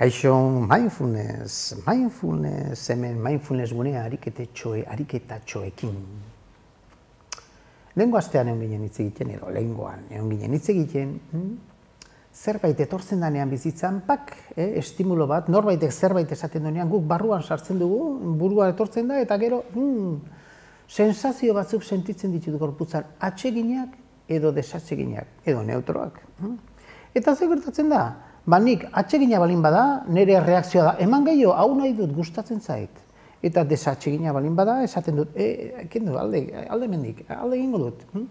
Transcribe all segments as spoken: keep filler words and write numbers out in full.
Kaixo, mindfulness, mindfulness, hemen mindfulness gunea ariketetxoe, ariketatxoekin. Lehengo astean egon ginen hitz egiten, edo lehengoan egon ginen hitz egiten, zerbait etortzen danean bizitzan, pak, eh, estimulo bat, norbaitek zerbait esaten duenean, guk barruan sartzen dugu, buruan etortzen da, eta gero, hmm, sensazio batzuk sentitzen ditut gorputzan, atseginak edo desatseginak, edo neutroak. Eta ze gertatzen da? Ba nik atsegina balin bada, nire reakzioa da, eman gehiago, hau nahi dut, gustatzen zait. Eta desatsegina balin bada, esaten dut, e, kendu, alde, alde mendik, alde egingo dut. Hm?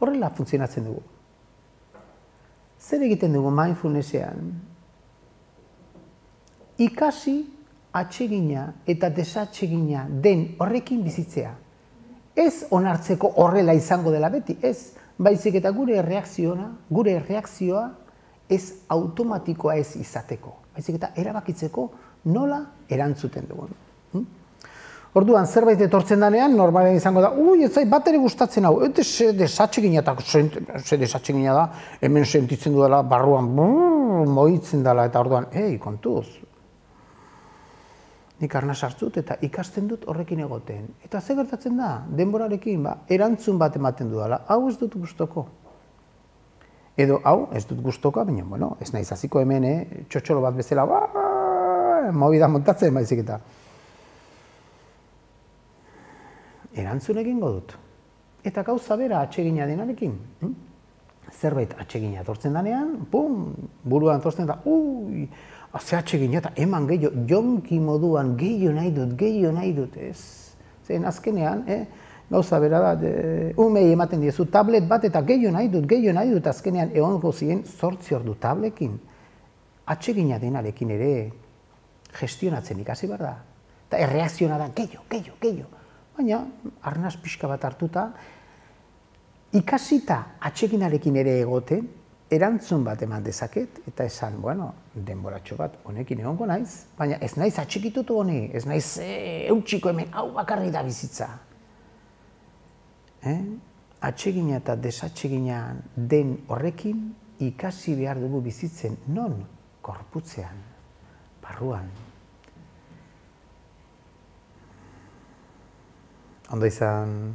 Horrela funtzionatzen dugu. Zer egiten dugu mindfulnessean? Ikasi atsegina eta desatsegina den horrekin bizitzea. Ez onartzeko horrela izango dela beti, ez. Baizik eta gure reakzioa, gure reakzioa, ez automatikoa ez izateko, baizik eta erabakitzeko nola erantzuten dugun. Orduan, zerbait etortzen danean, normalen izango da, ui, ez zait bat ere gustatzen hau, eta ze desatsegina eta ze desatsegina da, hemen sentitzen dudala, barruan, brrr, moitzen dela, eta orduan, ei, kontuz. Nik arnaz hartzut eta ikasten dut horrekin egoten. Eta ze gertatzen da, denborarekin, ba, erantzun bat ematen dudala, hau ez dut gustoko. Edo, hau, ez dut gustoka, baina, bueno, ez naiz hasiko hemen, eh, txotxolo bat bezala, ba, movida montatzen, baizik eta. Erantzun egingo dut. Eta gauza bera atsegina denarekin. Hm? Zerbait atsegina etortzen danean, pum, buruan etortzen da, ui, ze atsegina eta eman gehiago, jonki moduan, gehiago nahi dut, gehiago nahi dut, ez. Zen azkenean, eh, gauza bera da, umei ematen diezu tablet bat eta gehiago nahi dut, gehiago nahi dut, azkenean egongo ziren zortzi ordu tablekin. Atsegina denarekin ere gestionatzen ikasi behar da. Eta erreakziona da gehiago, gehiago, gehiago. Baina, arnaz pixka bat hartuta, ikasita atseginarekin ere egoten, erantzun bat eman dezaket, eta esan, bueno, denboratxo bat honekin egongo naiz, baina ez naiz atxikitutu honi, ez naiz eutxiko hemen, hau bakarri da bizitza. Eh? Atsegina eta desatsegina den horrekin ikasi behar dugu bizitzen non gorputzean, barruan. Ondo izan.